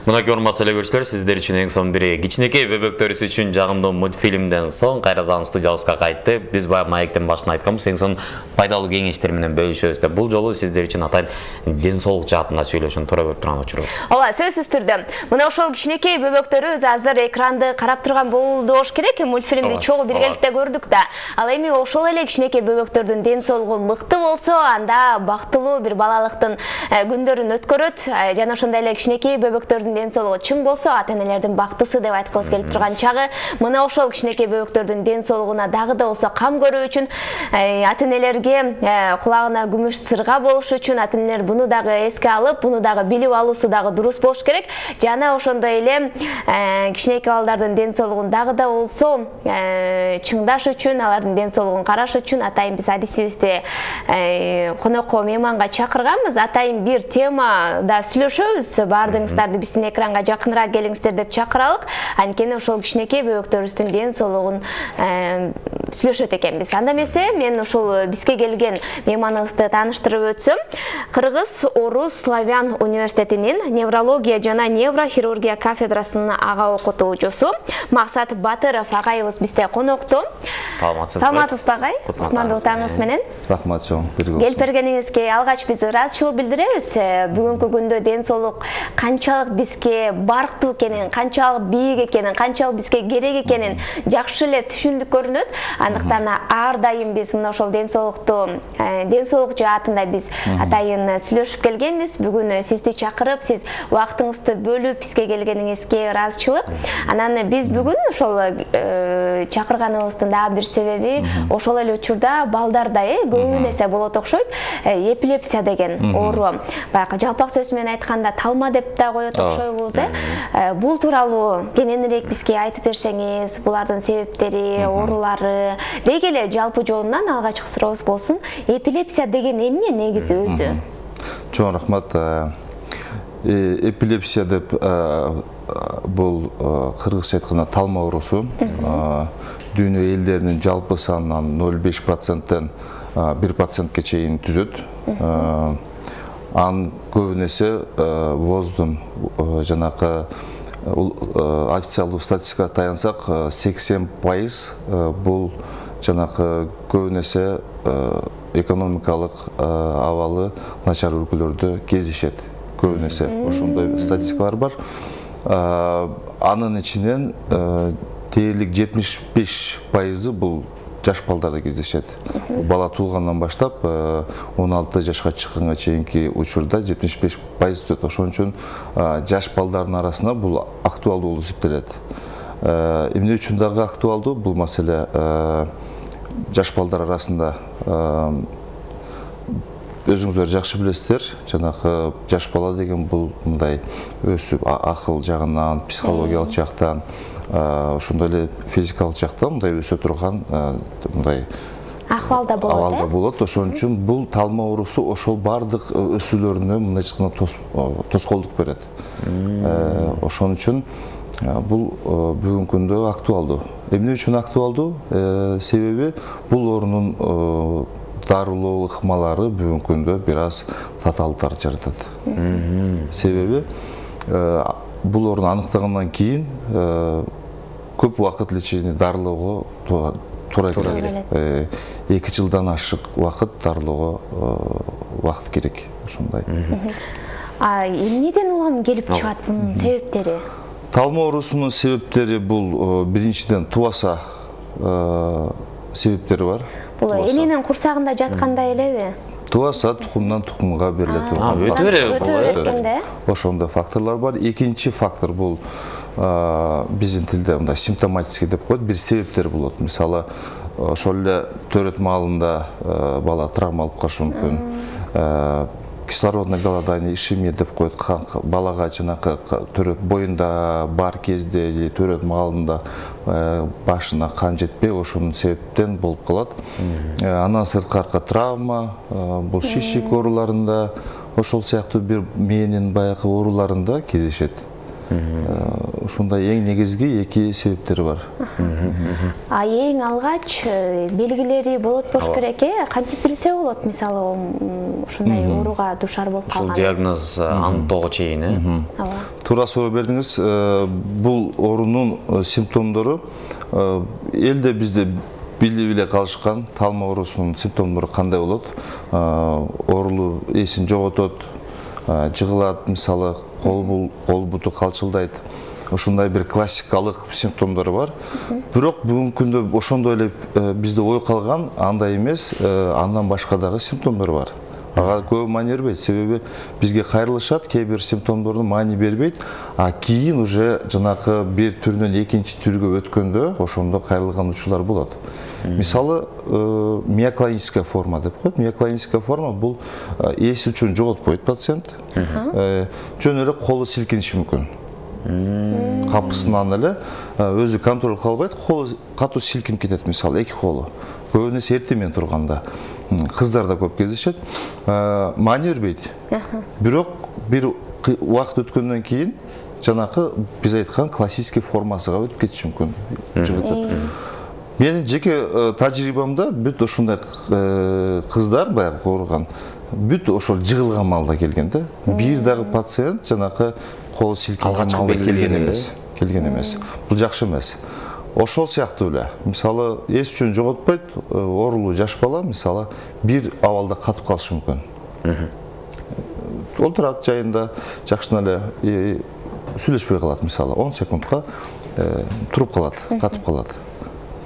Мынакей урматтуу телекөрүүчүлөр, сиздер үчүн эң сонун бири кичинекей бөбөктөрүбүз үчүн жагымдуу мультфильмден соң кайрадан студиябызга кайтты. Биз баягы маектин башында айтканбыз, эң сонун пайдалуу кеңештер менен бөлүшөбүз деп. Бул жолу сиздер үчүн атайын ден соолук жаатында сөйлөшүүнү туура көрүп турган учурубуз. Ооба, сөзсүз түрдө. Мына ошол кичинекей бөбөктөрүбүз азыр экранды карап турган болду болуш керек. Мультфильмди чогуу биргеликте көрдүк да. Ал эми ошол эле кичинекей бөбөктөрдүн ден соолугу мыкты болсо, анда бактылуу бир балалыктын күндөрүн өткөрөт. Жана ошондой эле кичинекей бөбөктөрдүн ден соолугу чың болсо, ата-энелердин бактысы деп айткыбыз келип турган чагы. Мына ошол кичинекей бөбөктөрдүн ден соолугуна дагы да болсо кам көрүү үчүн, ата-энелерге кулагына күмүш сырга болуш үчүн ата-энелер буну дагы эске алып, буну дагы билип алуусу дагы дурус болуш керек. Жана ошондой эле кичинекей балдардын ден соолугун дагы да болсо чыңдаш үчүн, алардын ден соолугун караш үчүн атайын биз адисибизди конокко, мейманга чакырганбыз. Атайын бир темада сүйлөшөбүз. Баардыгыңыздарды биздин экранга жакыныраак келиңиздер деп чакыралык. Анткени ошол кичинекей бөбөктөрүбүздүн ден соолугун сүйлөшөт экенбиз. Анда эмесе мен ошол бизге келген мейманыбызды тааныштырып өтсөм, Кыргыз Орус Славян университетинин неврология жана неврохирургия кафедрасынын ага окутуучусу Максат Батыров агайыбыз бизде конокто. Саламатсызбы агай? Кутмандуу таңыңыз менен. Рахмат чоң. Келип бергениңизге алгач биз ыраазычылык билдиребиз. Бүгүнкү күндө ден соолук канчалык бизге барктуу экенин, канчалык бийик экенин, канчалык бизге керек экенин жакшы эле түшүндүк көрүнөт. Андыктан ар дайым биз мына ошол ден соолук жаатында биз атайын сүйлөшүп келгенбиз. Бүгүн сизди чакырып, сиз убактыңызды бөлүп бизге келгениңизге ыраазычылык. Анан биз бүгүн ошол чакырганыбыздын дагы бир себеби ошол эле учурда балдарда көбүн эсе болот окшойт. Эпилепсия деген оору. Баягы жалпак сөз менен айтканда талма деп да коет окшойбуз. Бул тууралуу кененирээк бизге айтып берсеңиз, булардын себептери, оорулары, деги эле жалпы жолунан алгачкы сурообуз болсун. Эпилепсия деген эмне негизи өзү? Чоң рахмат. Эпилепсия деп бул кыргызча айтканда талма оорусу. Дүйнө элдеринин жалпы санынан 0,5%-тен 1%-ке чейин түзөт. Ан көбүн эсе воздун жанакы официалдуу статистикага таянсак 80% бул жанакы көбүн эсе экономикалык абалы начар өлкөлөрдө кездешет. Көбүн эсе ошондой статистикалар бар. Анын ичинен дээрлик 75% бул жаш балдарда кездешет. Бала туулгандан баштап 16 жашка чыкканга чейинки учурда 75% түзөт. Ошон үчүн жаш балдардын арасында бул актуалдуу болуп эсептелет. Эмне үчүн дагы актуалдуу бул маселе? Жаш балдар арасында өзүңүздөр жакшы билесиздер, жанакы жаш бала деген бул мындай өсүп акыл жагынан, психологиялык жактан, ошондой эле физикалык жактан мындай өсө турган мындай акыбалда болот. Ошон үчүн бул талма оорусу ошол бардык өсүүлөрүнө мындай айтканда тоскоолдук берет. Ошон үчүн бул бүгүнкү күндө актуалдуу. Эмне үчүн актуалдуу? Себеби бул оорунун дарылоо ыкмалары бүгүнкү күндө бир аз татаалдыктар жаратат. Себеби бул ооруну аныктагандан кийин көп убакыт лечение дарылоого туура келет. 2 жылдан ашык убакыт дарылоого убакыт керек. Ошондой. Эмнеден улам келип чыгат бунун себептери? Талма оорусунун себептери бул биринчиден тубаса себептери бар. Бул эненин курсагында жатканда элеби? Тубаса тукумдан тукумга бериле турган. Өтө бере. Ошондой факторлор бар. Экинчи фактор бул биздин тилде мындай симптоматический деп коет, бир себептер болот. Мисалы, ошол эле төрөт маалында бала травма алып калышы мүмкүн. Кислородный голодание, ишемия деп коет. Балага жанакы төрөт боюнда бар кезде же төрөт маалында башына кан жетпей, ошонун себептен болуп калат. Андан сырткары травма, бул шишик ооруларында, ошол сыяктуу бир мээнин баягы ооруларында кездешет. Ушундай эң негизги эки себептери бар. Эң алгач белгилери болот болуш керек, кантип билсе болот, мисалы ушундай ооруга душар болуп калган. Ушул диагноз аныктоого чейин, Туура суроо бердиңиз. Бул оорунун симптомдору элде бизде билип эле калышкан. Талма оорусунун симптомдору кандай болот? Оорулуу эсин жоготот, жыгылат, мисалы кол буту калчылдайт. Ушундай бир классикалык симптомдору бар. Бирок бүгүнкү күндө ошондой эле бизде ой калган, андай эмес, андан башка дагы симптомдор бар. Ага көп маани бербейт, себеби бизге кайрылышат, кээ бир симптомдордун маани бербейт, кийин уже жанакы бир түрүнөн экинчи түргө өткөндө ошондо кайрылган учурлар болот. Мисалы, миоклоническая форма деп коет. Миоклоническая форма бул эс учун жоготпойт пациент. Жөн эле колу силкиниши мүмкүн. Капысынан эле өзү контроль кыла албайт, колу катуу силкинип кетет, мисалы, эки колу. Көбүнесе эртең менен турганда. Кыздарда көп кездешет. Маани бербейт. Бирок бир убакыт өткөндөн кийин жанакы биз айткан классический формасына өтүп кетиши мүмкүн. Жыгытып. Менин жеке тажрыйбамда бүт ушундай кыздар баягы ооруган, бүт ошол жыгылган маалда келген да. Бир дагы пациент жанакы колу силкинган маалда келген эмес. Бул жакшы эмес. Ошол сыяктуу эле. Мисалы, эс үчүн жоготпойт, оорулуу жаш бала, мисалы, бир абалда катып калышы мүмкүн. Олтурат жайында жакшына эле сүйлөшпөй калат, мисалы, 10 секундка туруп калат, катып калат.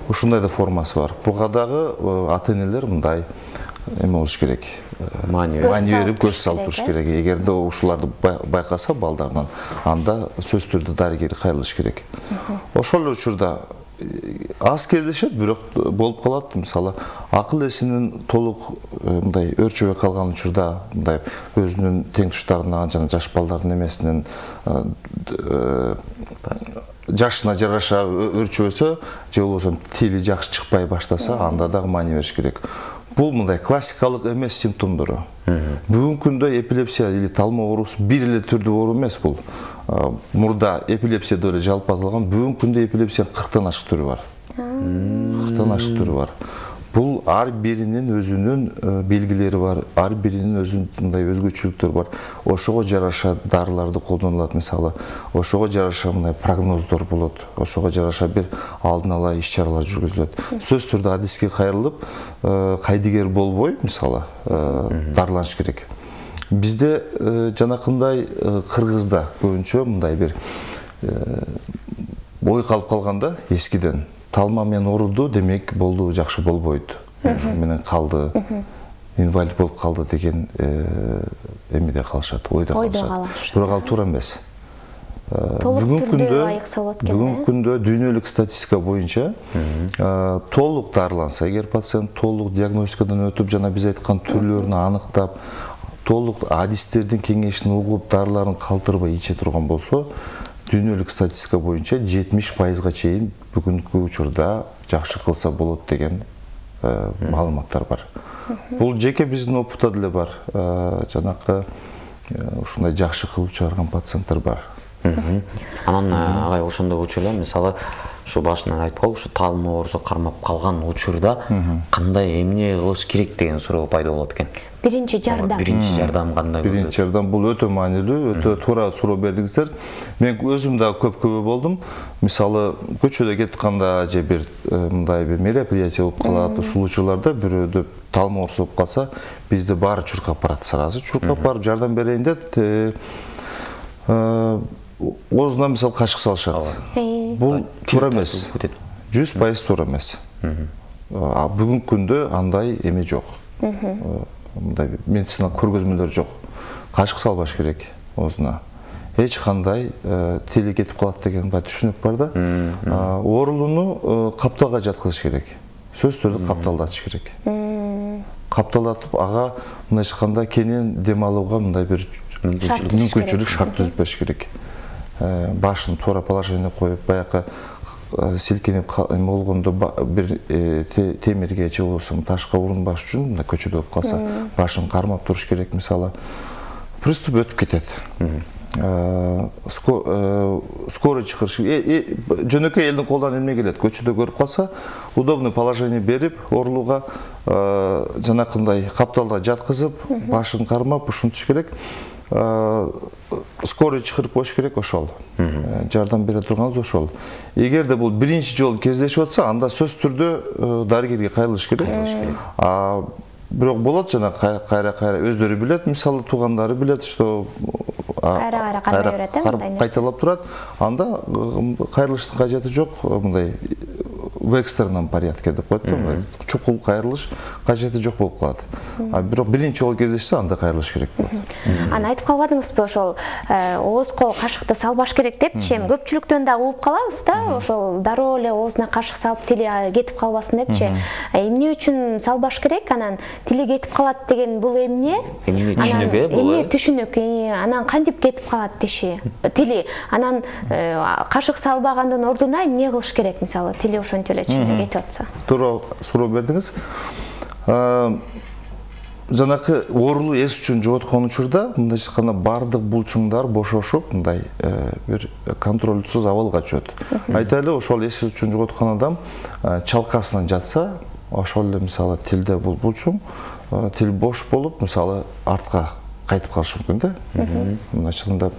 Ушундай да формасы бар. Буга дагы ата-энелер мындай эме болуш керек. Маани берип көз салып туруш керек. Эгерде ушуларды байкаса балдарынан, анда сөзсүз түрдө дарыгер кайрылыш керек. Ошол эле учурда аз кездешет, бирок болуп калат. Мисалы, акыл эсинин толук мындай өрчөбөй калган учурда, мындай өзүнүн теңтуштарынан жана жаш балдардын эмесинен жашына жараша өрчөбөсө, же болбосо тили жакшы чыкпай баштаса, анда дагы маани бериш керек. Бул мындай классикалык эмес симптомдору. Бүгүнкү күндө эпилепсия или талма оорусу бир эле түрдүү оору эмес бул. Мурда эпилепсия деп эле жалпы аталган, бүгүнкү күндө эпилепсиянын 40тан ашык түрү бар. 40тан ашык түрү бар. Бул ар биринин өзүнүн белгилери бар, ар биринин өзүнүн мындай өзгөчөлүктөрү бар. Ошого жараша дарыларды колдонулат, мисалы. Ошого жараша мындай прогноздор болот. Ошого жараша бир алдын ала иш-чаралар жүргүзүлөт. Сөзсүз түрдө адиске кайрылып, кайдыгер болбой, мисалы, дарыланыш керек. Бизде жанакындай Кыргызда көбүнчө мындай бир ой калып калганда эскиден. Талма менен ооруду, демек болду, жакшы болбойт. Ошо менен калды, инвалид болуп калды деген эмеде калышат, ойдо калышат. Бирок ал туура эмес. Бүгүнкү күндө дүйнөлүк статистика боюнча толук дарыланса, эгер пациент толук диагностикадан өтүп, жана биз айткан түрлөрүн аныктап, толук адистердин кеңешин угуп, дарыларын калтырбай иче турган болсо, дүйнөлүк статистика боюнча 70%га чейин бүгүнкү учурда жакшы кылса болот деген маалыматтар бар. Бул жеке биздин опытта деле бар. Жанакы ушундай жакшы кылып чыгарган пациенттер бар. Анан агай ошондой учурда, мисалы, ушу башынан айткол, ушу талма оорусу кармап калган учурда кандай эмне кылыш керек деген суроо пайда болот экен. Биринчи жардам. Биринчи жардам кандай? Биринчи жардам бул өтө маанилүү, өтө туура суроо бердиңиздер. Мен өзүм да көп болдум. Мисалы, көчөдө кетип атканда же бир мындай бир мероприятие болуп калат, ушул учурларда бирөөдө талма оорусу болуп калса, бизде баары чуркап барат сразу. Чуркап барып жардам берейин деп, оозуна мисалы кашык салышат. Бул туура эмес. 100% туура эмес. Бүгүнкү күндө андай эме жок. Мындай медицина көргөзмөлөр жок. Кашык салбаш керек оозуна. Эч кандай тили кетип калат деген бай түшүнүк бар да. Оорулууну капталга жаткызыш керек. Сөзсүз түрдө капталдатыш керек. Капталатып, ага мындай айтканда кенен дем алууга мындай бир мүмкүнчүлүк шарт түзүп бериш керек. Башын туура положение коюп, баягы силкинип болгондо бир темирге же болбосо ташка урунбаш үчүн мына көчөдө болуп калса, башын кармап туруш керек, мисалы. Приступ өтүп кетет. скорый чакырыш жөнөкөй элдин колунан эмне келет, көчөдө көрүп калса удобный положение берип оорулууга жанакындай капталга жаткызып башын кармап ушинтиш керек. Скорый чакырып коюш керек, ошол жардам бере турганыбыз ошол. Эгерде бул биринчи жолу кездешип атса, анда сөз түрдө дарыгерге кайрылыш керек. Бирок болот жана кайра өздөрү билет, мисалы туугандары билет, что кайталап турат, анда кайрылыштын кажети жок, мындай в экстренном порядке деп коет, чукул кайрылыш кажети жок болуп калат. Бирок биринчи жолу кездешсе, анда кайрылыш керек болот. Аны айтып калбадыңызбы, ошол оозго кашыкты салбаш керек депчи, эми көпчүлүктөн да угуп калабыз да, ошол дароо эле оозуна кашык салып тили кетип калбасын депчи. Эмне үчүн салбаш керек, анан тили кетип калат деген бул эмне? Эмне түшүнүк бул? Эмне түшүнүк? Анан кантип кетип калат тили? Анан кашык салбагандын ордуна эмне кылыш керек, мисалы, тили ошентип эле чынында кетип атса? Туура суроо бердиңиз. Жанакы оорулуу эс үчүн жоготкон учурда мындайча айтканда бардык булчуңдар бошошуп, мындай бир контролсуз абалга түшөт. Айтайлы, ошол эс үчүн жоготкон адам чалкасынан жатса, ошол эле мисалы тилде бул булчуң, тил бош болуп, мисалы артка кайтып калышы мүмкүн да. Мындайча айтканда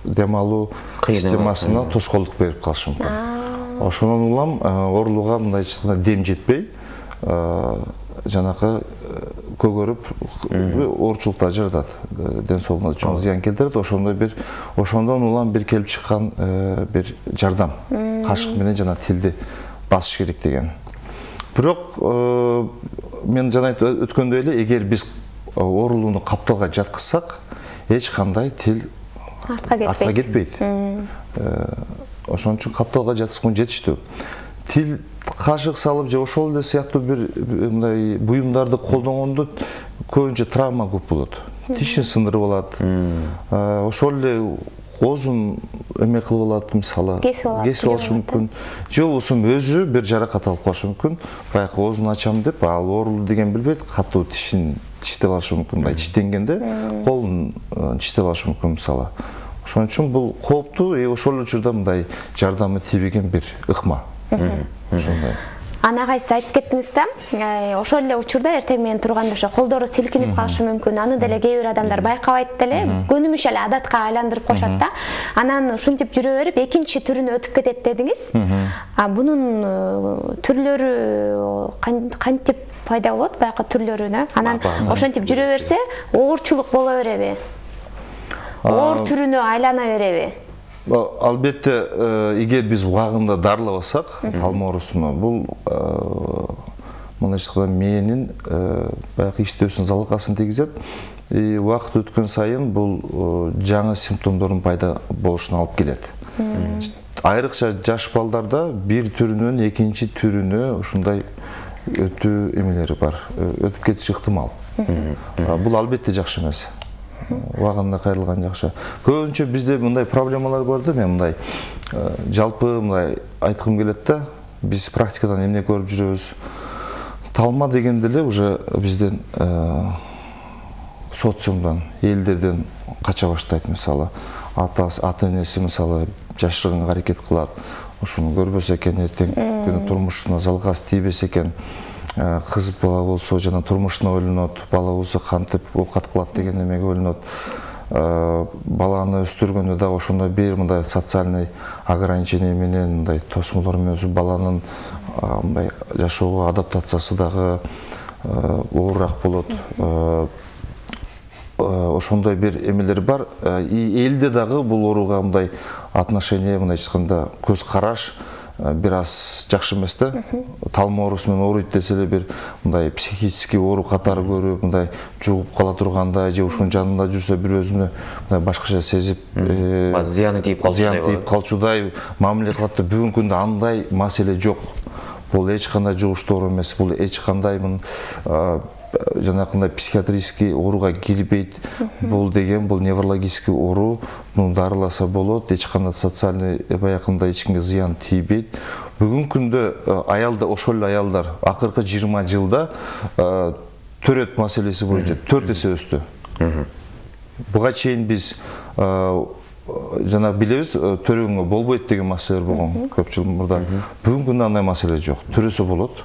дем алуу системасына тоскоолдук берип калышы мүмкүн. Ошонун улам оорулууга мындайча айтканда дем жетпей, жанакы көгөрүп оорчулуктар жаратат, ден соолугуна чоң зыян келтирет. Ошондон улам бир келип чыккан бир жардам, кашык менен жана тилди басыш керек деген. Бирок мен жана өткөндөй эле, эгер биз оорулууну капталга жаткызсак, эч кандай тил артка кетпейт. Ошон үчүн капталга жаткызган жетиштүү. Тил кашык салып же ошол эле сыяктуу бир мындай буюмдарды колдонгондо көбүнчө травма көп болот. Тишин сындырып алат. Ошол эле оозун эме кылып алат, мисалы, кесип алышы мүмкүн. Же болбосо өзү бир жаракат алып калышы мүмкүн. Баягы оозун ачам деп, ал оорулуу деген билбейт, катуу тишин тиштеп алышы мүмкүн. Мындай тиштенгенде колун тиштеп алышы мүмкүн, мисалы. Ошон үчүн бул кооптуу, ошол учурда мындай жардамы тийбеген бир ыкма. Ошондой. Ана кайсы айтып кеттиңиз да, ошол эле учурда эртең менен турганда ошо колдору силкинип калышы мүмкүн. Аны деле кээ бир адамдар байкабайт деле, көнүмүш эле адатка айландырып коюшат да. Анан ушинтип жүрө берип экинчи түрүнө өтүп кетет дедиңиз. Бунун түрлөрү кантип пайда болот, баягы түрлөрүнө? Анан ошентип жүрө берсе, оорчулук боло береби? Оор түрүнө айлана береби? Албетте, эгер биз убагында дарылабасак, талма оорусуну, бул мындайча айтканда мээнин баягы иштөөсүн залалгасын тийгизет. Убакыт өткөн сайын бул жаңы симптомдордун пайда болушуна алып келет. Айрыкча жаш балдарда бир түрүнөн экинчи түрүнө ушундай өтүү эмелери бар, өтүп кетиши ыктымал. Бул албетте жакшы эмес. Убагында кайрылган жакшы. Көбүнчө бизде мындай проблемалар бар да, мен мындай жалпы мындай айткым келет да, биз практикадан эмне көрүп жүрөбүз? Талма дегенде эле уже бизден социумдан, элдерден кача баштайт, мисалы. Ата-энеси мисалы жашырганга аракет кылат. Ошону көрбөсө экен, эртең күнү турмушуна залгас тийбесе экен. Кыз бала болсо жана турмушуна ойлонот, бала болсо кантип оокат кылат деген эмеге ойлонот. Баланы өстүргөндө да ошондой бир мындай социальный ограничение менен, мындай тосмолор менен баланын мындай жашоого адаптациясы дагы оорураак болот. Ошондой бир эмелер бар. Элде дагы бул ооруга мындай отношение, мындайча айтканда көз караш бир аз жакшы эмес да. Талма оорусу менен ооруйт десе эле бир мындай психический оору катары көрүп, мындай жугуп кала тургандай же ушунун жанында жүрсө бир өзүнө мындай башкача сезип, зыяны тийип калчудай мамиле кылат да. Бүгүнкү күндө андай маселе жок. Бул эч кандай жугуштуу оору эмес, бул эч кандай жанакындай психиатрический ооруга кирбейт. Бул деген бул неврологический оору, муну дарыласа болот, эч кандай социальный баягындай эч кимге зыян тийбейт. Бүгүнкү күндө аялдар, ошол эле аялдар акыркы 20 жылда төрөт маселеси боюнча 4 эсе өстү. Буга чейин биз жана билебиз, төрөгөнгө болбойт деген маселелер болгон көп жыл мурда. Бүгүнкү күндө андай маселе жок. Төрөсө болот.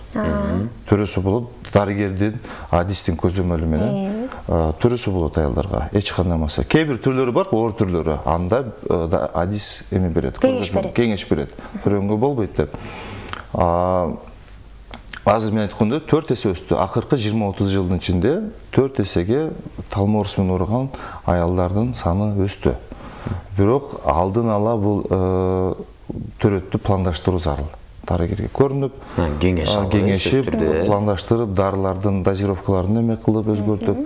Төрөсө болот. Дарыгердин, адистин көзөмөлү менен төрөсө болот аялдарга. Эч кандай маселе. Кээ бир түрлөрү бар, оор түрлөрү. Анда адис эме берет, кеңеш берет. Төрөнгө болбойт деп. Азыр мен айткандай 4 эсе өстү. Акыркы 20-30 жылдын ичинде 4 эсеге талма оорусу менен ооруган аялдардын саны өстү. Бирок алдын ала бул төрөттү пландаштыруу зарыл. Дарыгерге көрүнүп, кеңешип, пландаштырып, дарылардын дозировкаларын эме кылып, өзгөртүп,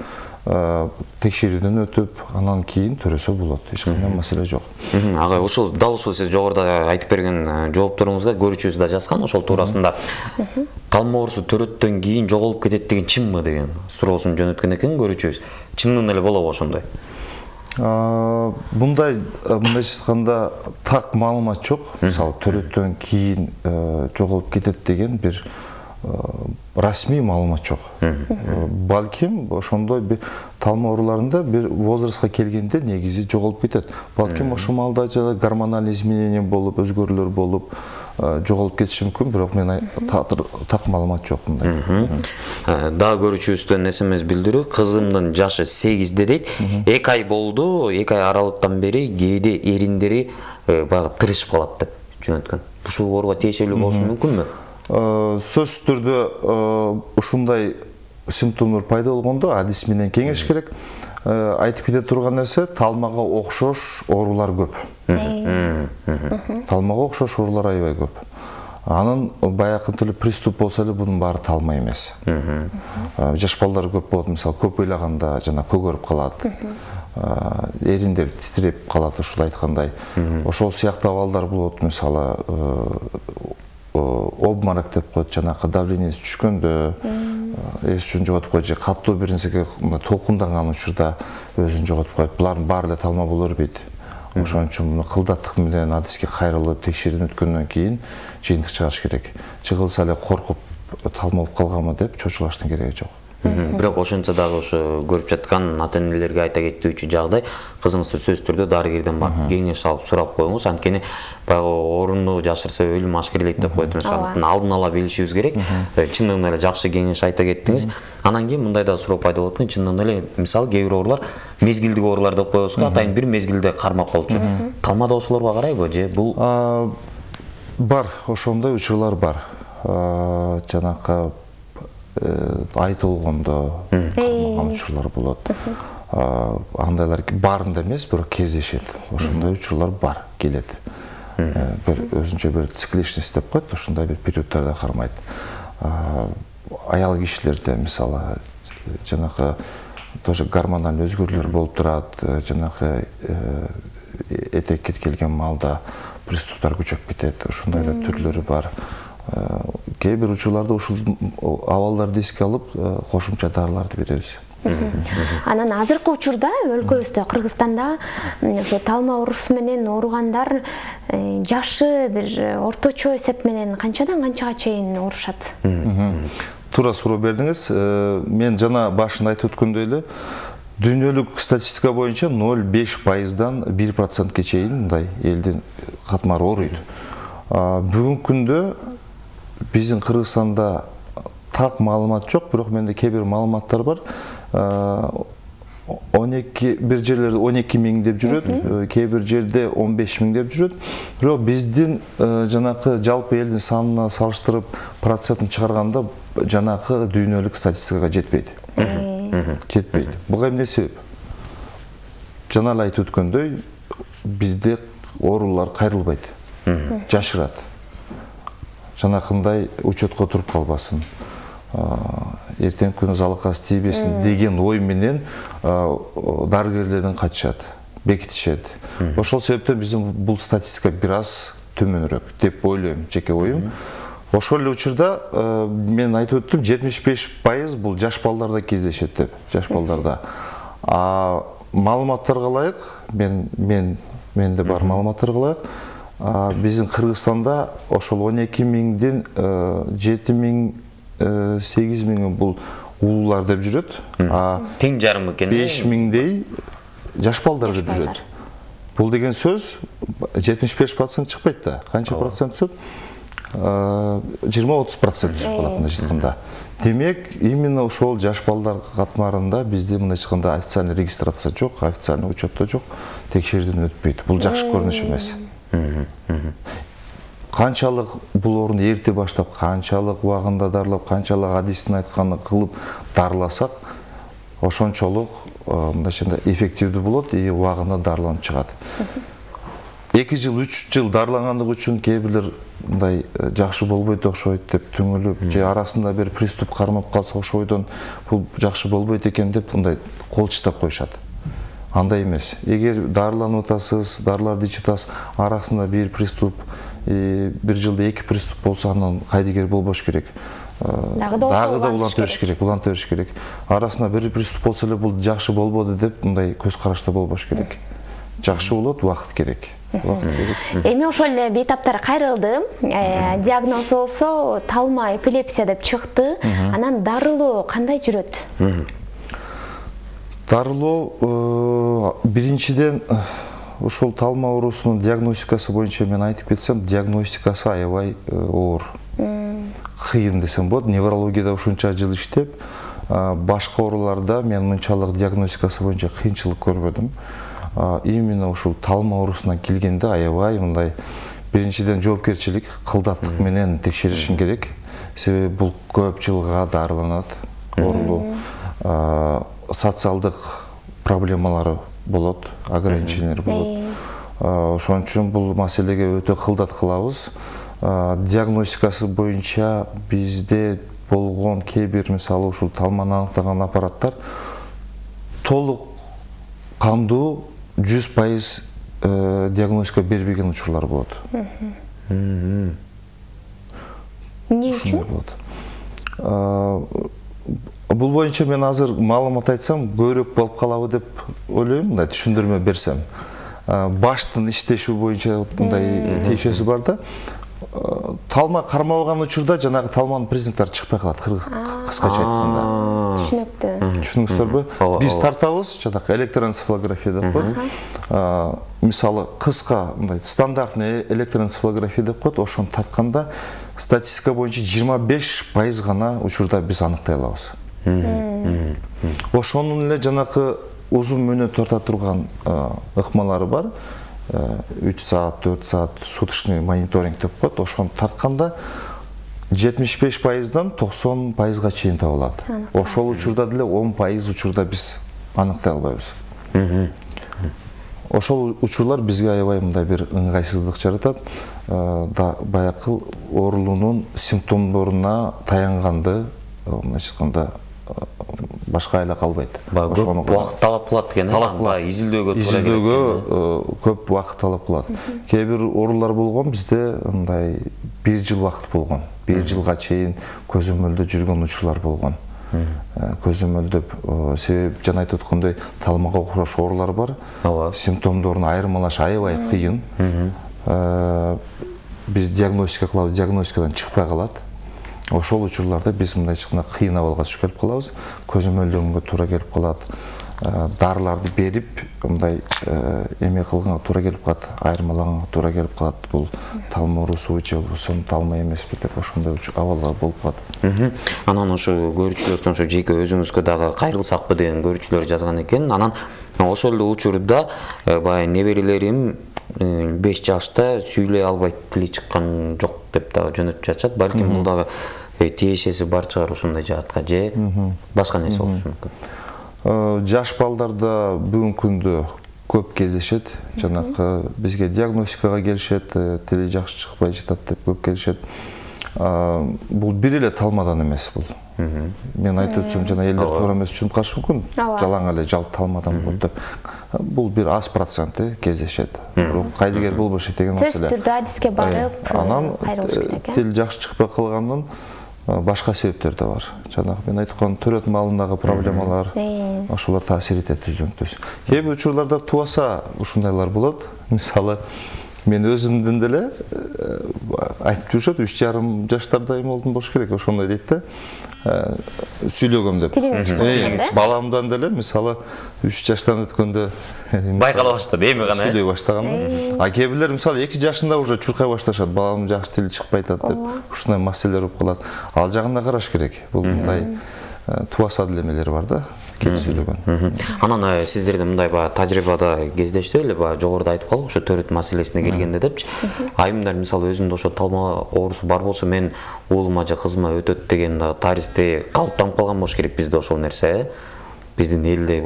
текшерүүдөн өтүп, анан кийин төрөсө болот. Эч кандай маселе жок. Агай, ушул дал ушул сиз жогоруда айтып берген жоопторуңузда көрүүчүбүз да жазган ошол туурасында. Талма оорусу төрөттөн кийин жоголуп кетет деген чынбы деген суроосун жөнөткөн экен көрүүчүбүз. Чынын эле болобу ошондой? Мындай айтканда так маалымат жок. Мисалы төрөттөн кийин жоголуп кетет деген бир расмий маалымат жок. Балким ошондой бир талма ооруларында бир возрастка келгенде негизи жоголуп кетет. Балким ошол маалда гормоналдык изменение болуп, өзгөрүүлөр болуп жоголуп кетиши мүмкүн, бирок мен так маалымат жок мындай. Дагы көрүүчүбүздөн смс билдирүү, кызымдын жашы 8-де дейт. 2 ай болду, 2 ай аралыктан бери кээде эриндери баягы тырышып калат деп жөнөткөн. Ушул ооруга тиешелүү болушу мүмкүнбү? Сөзсүз түрдө ушундай симптомдор пайда болгондо адис менен кеңеш керек. Айтып кете турган нерсе, талмага окшош оорулар көп. Талмага окшош оорулар аябай көп. Анын баягы тиле приступ болсо эле бунун баары талма эмес. Жаш балдар көп болот, мисалы көп ыйлаганда жана көгөрүп калат. Эриндер титиреп калат, ушул айткандай. Ошол сыяктуу абалдар болот, мисалы обморок деп коет, жанакы давлениеси түшкөндө, эсин жоготуп коет, же катуу бир нерсеге толкундаган учурда өзүн жоготуп коет. Булардын баары эле талма боло бербейт. Ошон үчүн муну кылдаттык менен адиске кайрылып, текшерүүдөн өткөндөн кийин жыйынтык чыгарыш керек. Чыгылса эле коркуп талма болуп калганмы деп чочулаштын кереги жок. Бирок ошентсе дагы ошо көрүп жаткан ата-энелерге айта кетүүчү жагдай, кызыңызды сөзсүз түрдө дарыгерден барып кеңеш алып сурап коюңуз. Анткени баягы оорунду жашырса өлүм ашкерлейт деп коет. Ошондуктан алдын ала билишибиз керек. Чындыгында эле жакшы кеңеш айта кеттиңиз. Анан кийин мындай да суроо пайда болот экен. Чындыгында эле мисалы кээ бир оорулар мезгилдик оорулар деп коебуз го, атайын бир мезгилде кармап калчу. Талмада ошолорго карайбы же бул? Бар, ошондой учурлар бар. Жанакы айтылгондо кармаган учурлар болот. Андайлар баарында эмес, бирок кездешет. Ошондой учурлар бар, келет. Бир өзүнчө бир цикличность деп коет, ошондой бир периодтарда кармайт. Аял кишилерде мисалы жанакы тоже гормоналдык өзгөрүүлөр болуп турат, жанакы этек кеткелген маалда приступтар күчөп кетет. Ошондой да түрлөрү бар. Кээ бир учурларда ушул абалдарды эске алып кошумча дарыларды беребиз. Анан азыркы учурда өлкөбүздө, Кыргызстанда ошо талма оорусу менен ооругандар жашы бир орточо эсеп менен канчадан канчага чейин оорушат? Туура суроо бердиңиз. Мен жана башында айтып өткөндөй эле, дүйнөлүк статистика боюнча 0,5%дан 1%ке чейин мындай элдин катмары ооруйт. Бүгүнкү күндө биздин Кыргызстанда так маалымат жок, бирок менде кээ бир маалыматтар бар. 12 бир жерлерде 12 миң деп жүрөт, кээ бир жерде 15 миң деп жүрөт. Бирок биздин жанакы жалпы элдин санына салыштырып процентин чыгарганда жанакы дүйнөлүк статистикага жетпейт. Жетпейт. Буга эмне себеп? Жана эле айтып өткөндөй, бизде оорулар кайрылбайт. Жашырат. Жанакындай учетко туруп калбасын. Эртең күнү залыкасы тийбесин деген ой менен дарыгерлерден качышат, бекитишет. Ошол себептен биздин бул статистика бир аз төмөнүрөөк деп ойлойм, жеке оюм. Ошол эле учурда мен айтып өттүм, 75% бул жаш балдарда кездешет деп, жаш балдарда. Маалыматтарга ылайык, менде бар маалыматтарга ылайык, биздин Кыргызстанда ошол 12 миңден 7 миң 8 миңи бул улуулар деп жүрөт. Тең жарым экен. 5 миңдей жаш балдар деп жүрөт. Бул деген сөз 75% чыкпайт да. Канча процент түсөт? 20-30% түсүп калат мындай айтканда. Демек, именно ошол жаш балдар катмарында бизде мындай айтканда официальный регистрация жок, официальный учетто жок, текшерүүдөн өтпөйт. Бул жакшы көрүнүш эмес. Канчалык бул орун эрте баштап, канчалык убагында дарылап, канчалык адистин айтканын кылып дарыласак, ошончолук мындай айтканда эффективдүү болот и убагында дарыланып чыгат. 2 жыл, 3 жыл дарылангандык үчүн кээ бирлер мындай жакшы болбойт окшойт деп түңүлүп, же арасында бир приступ кармап калса ошол ойдон бул жакшы болбойт экен деп мындай кол чыштап коюшат. Андай эмес. Эгер дарыланып атасыз, дарыларды ичип атасыз, арасында бир приступ, 1 жылда 2 приступ болсо андан кайдыгер болбош керек. Дагы да улантып бериш керек. Арасында бир приступ болсо эле бул жакшы болбоду деп мындай көз карашта болбош керек. Жакшы болот, убакыт керек. Эми ошол эле бейтаптар кайрылды. Диагноз болсо талма эпилепсия деп чыкты. Анан дарылоо кандай жүрөт? Дарылоо биринчиден ошол талма оорусунун диагностикасы боюнча мен айтып кетсем, диагностикасы аябай оор. Кыйын десем болот. Неврологияда ушунча жыл иштеп, башка ооруларда мен мынчалык диагностикасы боюнча кыйынчылык көрбөдүм. Именно ушул талма оорусуна келгенде аябай мындай биринчиден жоопкерчилик, кылдаттык менен текшеришин керек. Себеби бул көп жылга дарыланат оорулуу. Социалдык проблемалары болот, ограничениялар болот. Ошон үчүн бул маселеге өтө кылдат кылабыз. Диагностикасы боюнча бизде болгон кээ бир мисалы ушул талманы аныктаган аппараттар толук кандуу 100% диагностика бербеген учурлар болот. Эмне үчүн? Бул боюнча мен азыр маалымат айтсам, көбүрөөк болуп калабы деп ойлойм, мындай түшүндүрмө берсем. Баштын иштеши боюнча мындай тиешеси бар да. Талма кармабаган учурда жанагы талманын признактары чыкпай калат, кыскача айтканда. Түшүнүктүү. Түшүнүңүздөрбү? Биз тартабыз, жанагы электроэнцефалография деп коет. Мисалы, кыска мындай стандартный электроэнцефалография деп коет, ошону тартканда статистика боюнча 25% гана учурда биз аныктай алабыз. Ошонун эле жанакы узун мөөнөт тарта турган ыкмалары бар. 3 саат, 4 саат суточный мониторинг деп коет. Ошону тартканда 75%дан 90%га чейин табылат. Ошол учурда деле 10% учурда биз аныктай албайбыз. Ошол учурлар бизге аябай мындай бир ыңгайсыздык жаратат. Баякы оорулуунун симптомдоруна таянганды, мындайча айтканда, башка айла калбайт. Көп убакыт талап кылат экен, изилдөөгө туура келет. Көп убакыт талап кылат. Кээ бир оорулар болгон бизде мындай 1 жыл убакыт болгон. 1 жылга чейин көзөмөлдө жүргөн учурлар болгон. Көзөмөлдөп, себеп жана айтып аткандай талмага окшош оорулар бар. Симптомдорун айырмалаш аябай кыйын. Биз диагностика кылабыз, диагностикадан чыкпай калат. Ошол учурларда биз мындай чыкканда кыйын абалга түшүп келип калабыз. Көзөмөлдөгөнгө туура келип калат. Дарыларды берип, мындай эме кылганга туура келип калат, айырмалаганга туура келип калат. Бул талма оорусу же болсо талма эмеспи деп ошондой абалга болуп калат. Анан ошо көрүүчүлөрдөн ошо жеке өзүңүзгө дагы кайрылсакпы деген көрүүчүлөр жазган экен. Анан ошол эле учурда баягы неберелерим 5 жашта сүйлөй албайт, тили чыккан жок деп дагы жөнөтүп жатышат. Балким бул дагы тиешеси бар чыгар ушундай жаатка, же башка нерсе болушу мүмкүн. Жаш балдарда бүгүнкү күндө көп кездешет. Жанакы бизге диагностикага келишет, тили жакшы чыкпай жатат деп көп келишет. Бул бир эле талмадан эмес бул. Мен айтып өтсөм жана элдер туура эмес түшүнүп калышы мүмкүн. Жалаң эле жалт талмадан болот деп. Бул бир аз проценти кездешет. Кайдыгер болбошу деген маселе. Сөзсүз түрдө адиске барып, кайрылыш керек. Тил жакшы чыкпай калгандан башка себептер да бар. Жанагы мен айткан төрөт маалындагы проблемалар, ошолор таасир этет түздөн-түз. Кээ бир учурларда тубаса ушундайлар болот. Мисалы, мен өзүмдүн деле айтып жүрүшөт, 3,5 жаштарда эме болдум болуш керек, ошондой дейт да. Сүйлөгөм деп. Баламдан деле мисалы 3 жаштан өткөндө байкала баштады, эми гана сүйлөй баштаган. А кээ бирлер мисалы 2 жашында уже чуркай башташат, баламдын жакшы тили чыкпай атат деп, ушундай маселелер болуп калат. Ал жагына караш керек. Бул мындай туаса делемелер бар да. Сүйлөгөн. Анан сиздерде мындай тажрыйбада кездешти эле, жогоруда айтып калдык, ошо төрөт маселесине келгенде депчи. Айымдар мисалы өзүндө ошо талма оорусу бар болсо, мен уулума же кызыма өтөт деген таризде калыптанып калган болуш керек бизде ошол нерсе. Биздин элде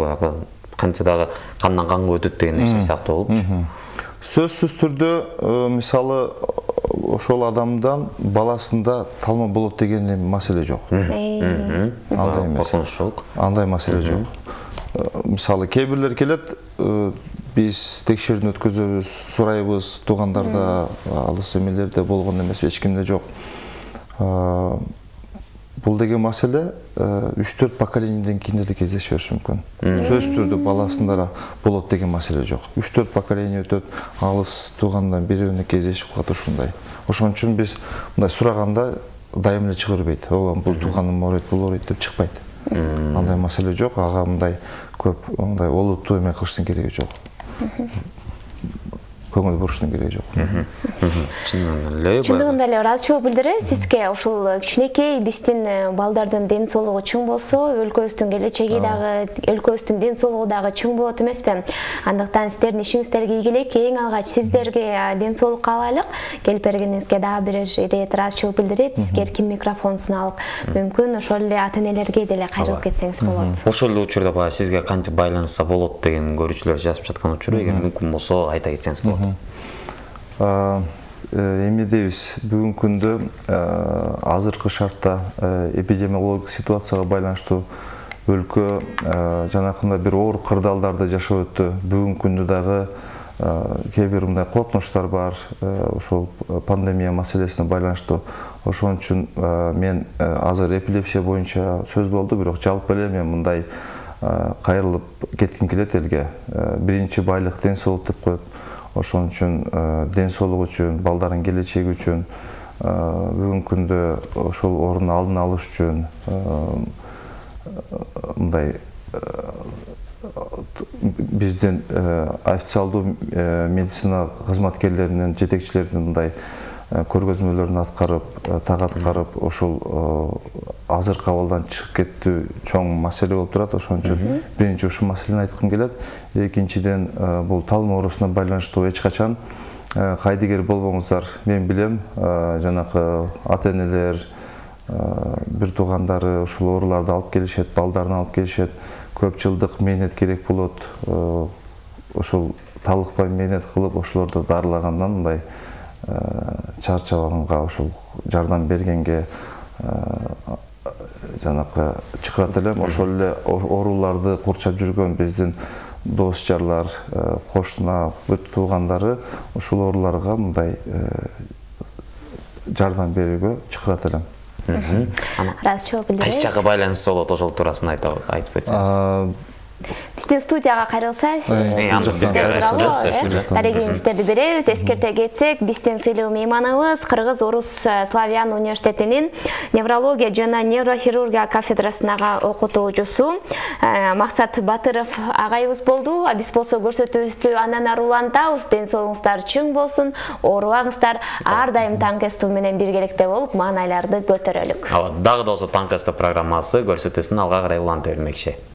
канча дагы кандан канга өтөт деген нерсе сыяктуу болупчу. Сөзсүз түрдө мисалы ошол адамдан баласында талма болот деген маселе жок. Андай коркунуч жок. Андай маселе жок. Мисалы кээ бирлер келет, биз текшерүүнү өткөзөбүз, сурайбыз, туугандарда, алыс эмелерде болгон эмес, эч кимде жок. Бул деген маселе 3-4 поколенияден кийин эле кездеше бериши мүмкүн. Сөзсүз түрдө баласында болот деген маселе жок. 3-4 поколения өтөт, алыс туугандан бирөөнө кездешип калат ушундай. Ошон үчүн биз мындай сураганда дайым эле чыга бербейт. Бул тууганым ооруйт, бул ооруйт деп чыкпайт. Андай маселе жок, ага мындай көп мындай олуттуу эме кылыштын кереги жок. Көңүл буруштун кереги жок. Чындыгында эле ыраазычылык билдиребиз сизге. Ушул кичинекей биздин балдардын ден соолугу чың болсо, өлкөбүздүн келечеги дагы, өлкөбүздүн ден соолугу дагы чың болот эмеспи? Андыктан сиздердин ишиңиздерге ийгилик. Эң алгач сиздерге ден соолук каалайлык. Келип бергениңизге дагы бир ирет ыраазычылык билдирип, сизге эркин микрофон суналык. Мүмкүн ошол эле ата-энелерге деле кайрылып кетсеңиз болот. Ошол эле учурда сизге кантип байланышса болот деген көрүүчүлөр жазып жаткан учур, эгер мүмкүн болсо айта кетсеңиз болот. Эми дейбиз, бүгүнкү күндө азыркы шартта эпидемиологик ситуацияга байланыштуу өлкө жанакындай бир оор кырдаалдарда жашап өттү. Бүгүнкү күндө дагы кээ бир мындай коркунучтар бар, ошол пандемия маселесине байланыштуу. Ошон үчүн мен азыр эпилепсия боюнча сөз болду, бирок жалпы эле мен мындай кайрылып кетким келет элге. Биринчи байлык ден соолук деп коет. Ошон үчүн ден соолук үчүн, балдардын келечеги үчүн, бүгүнкү күндө ошол орун алдын алыш үчүн мындай биздин официалдуу медицина кызматкерлеринин, жетекчилеринин мындай көргөзмөлөрүн аткарып, так аткарып, ошол азыркы абалдан чыгып кеттүү чоң маселе болуп турат. Ошон үчүн биринчи ушул маселени айткым келет. Экинчиден, бул талма оорусуна байланыштуу эч качан кайдыгер болбоңуздар. Мен билем, жанакы ата-энелер, бир туугандары ушул ооруларды алып келишет, балдарын алып келишет. Көп жылдык мээнет керек болот. Ошол талыкпай мээнет кылып, ошолорду дарылагандан мындай чарчабаганга, ошол жардам бергенге жанакы чакырат элем. Ошол эле ооруларды курчап жүргөн биздин дос жарлар, кошуна, бүт туугандары ушул ооруларга мындай жардам берүүгө чакырат элем. Ыраазычылык билдиребиз. Кайсы жакка байланышса болот, ошол туурасында айтып өтсөңүз. Биздин студияга кайрылсаңыз, дарегиңиздерди беребиз. Эскерте кетсек, биздин сыйлуу мейманыбыз Кыргыз Орус Славян университетинин неврология жана нейрохирургия кафедрасынага окутуучусу Максат Батыров агайыбыз болду. Биз болсо көрсөтүүбүздү андан ары улантабыз. Ден соолугуңуздар чың болсун, оорубаңыздар. Ар дайым Таңкы СТ менен биргеликте болуп, маанайларды көтөрөлүк. Дагы да болсо Таңкы СТ программасы көрсөтүүсүн алга карай уланта бермекчи.